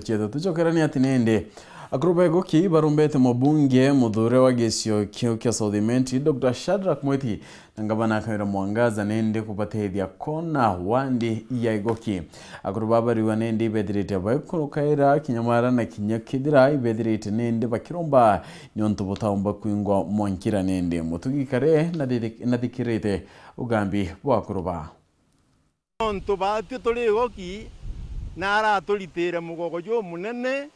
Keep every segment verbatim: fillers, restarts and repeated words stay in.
Cietu tucokerania ati nindi, akuru ba Igoki barumbete mubunge muthure wa gicio kiu kia South Imenti, Doctor Shadrack Mwiti, na ngavana Kawira Mwangaza nindi kubatethia kona wandi ya Igoki. Akuru ba bariwa nindi ibethirite baikurukaira kinya mara na kinya kethira ibethirite nindi bakiromba niuntu butaumba kwingwa mwankira nindi. Mutugi kare nathiri-, nathikirite ugambi bwa akuru ba. Nontu baatwi turi Igoki, na araturitire mugogo jumunene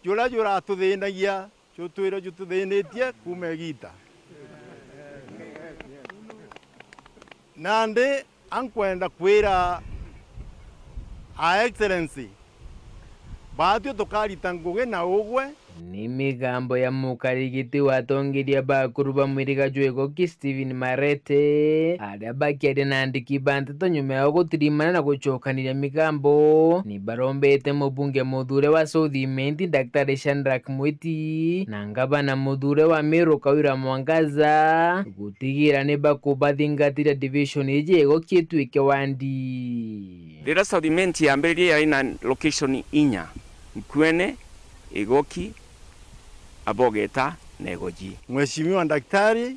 juria juratuthinagia, jutwire jututhinitie kuuma igiita. Nandi ankwenda kwira Her Excellency, baatwi tukarita ngugi na ugwe. Ni migambo ya mukarigiti wa atongeria ba akuru ba mwiriga jwa Igoki Stephen Marete, aria bakiaria na andiki ba nteto nyuma ya gutirimana na gucokaniria migambo, ni barombete mubunge muthure wa South Imenti, Daktari Shadrack Mwiti, na ngavana muthure wa Meru Kawira Mwangaza gutigira ni bakubathingatiria division iji ya Igoki ituike wandi. Riria South Imenti yambiririe yari na location inya, Nkuene, Igoki, Abogeta na Igoji. Mheshimiwa Daktari,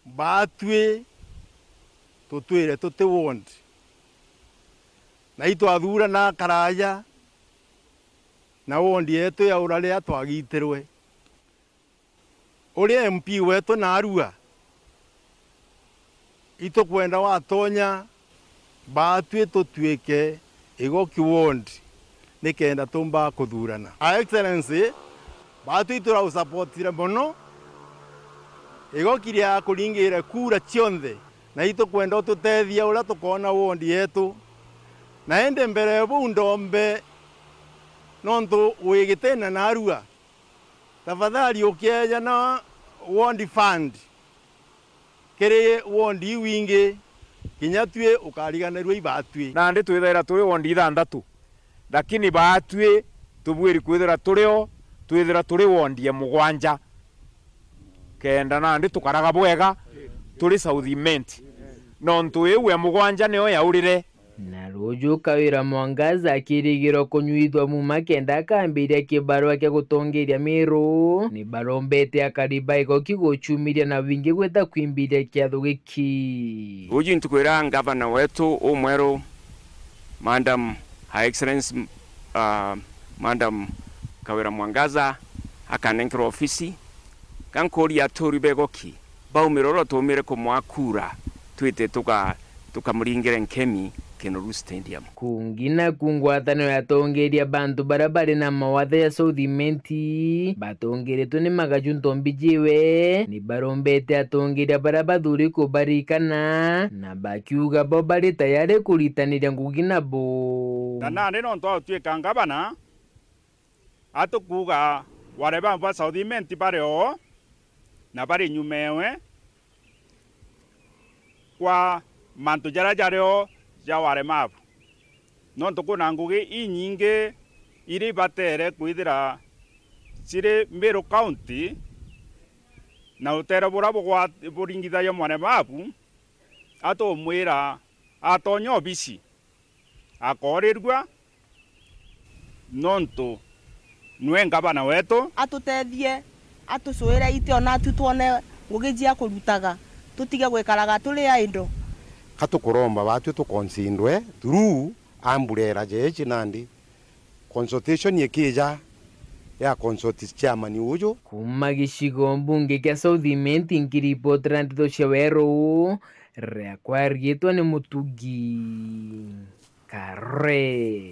baatwi tutwire tuti ward, na itwathurana karaaja na ward yetu yaura riria twagitirwe. Uri M P wetu naarua, itukwenda watonya baatwi tutwike Igoki ward nikenda tumba kuthurana. Her Excellency, baatwi iturausupportire mono Igoki ria kuringire kura cionthe, na itukwenda ututethia uria tukoona ward yetu. Na indi mbere ya buu ndombe, nontu wi gitine naarua, tafadhali ukieja na ward fund kiri ward iu ingi, kinya tui ukariganirua ibaatwi. Nandi twithaira turi ward ithanthatu, lakini baatwi tubwiri kwithira turi o, twithira turi ward ya mugwanja, kenda nandi tukaraga bwega turi South Imenti, nontu iu ya mugwanja niyo yaurire. Na ruuju Kawira Mwangaza akirigirwa kunyuithua muma kenda akambiria kibarua kia gutongeria Meru, ni barombete akari ba Igoki gucumiria na wingi gwita kwimbiria kiatho giki. Ruuju ntuku iria ngavana wetu umweru, Madam Her Excellency, uh, Madam Kawira Mwangaza, akanenkerwa ofisi, gankuria aturi ba Igoki, baumire uria tuumire kumwaa kura, twite tuka-, tukamuringire nkemi Kinoru Stadium. Kungi naku ngwataniro ya atongeria bantu baria bari na mawatho ya South Imenti, batongeretwe ni Magaju Ntombi Jiwe, ni barombete atongeria baria bathuri kubarikana, na bakiuga bo bari tayari kuritaniria ngugi nabo. Na nandi nontu wa gutuika ngavana, atukuuga ware ba, ba South Imenti bari oo, na bari nyuma ewe kwa mantu jaria jari oo ja walemavu. Nontu kwina ngugi inyingi iria ibatere kwithira ciri Meru County, na utere buria bugwa-, buringithagia mwanemavu, atumwira atonya obisi, akoorirua, nontu nwe ngavana wetu. Atutethie, atucuire iti ona atu twone ngugi cia kurutaga, tutige gwikaraga turi idle. Ka tukuromba baatwi tuconsidwe through umbrella jeeji nandi consultation ikija ya consult chairman uju. Kuuma gicigo mbunge kia South Imenti, nkiripotera nteto cia Weru, riakwa riitwa ni Mutugi Kare.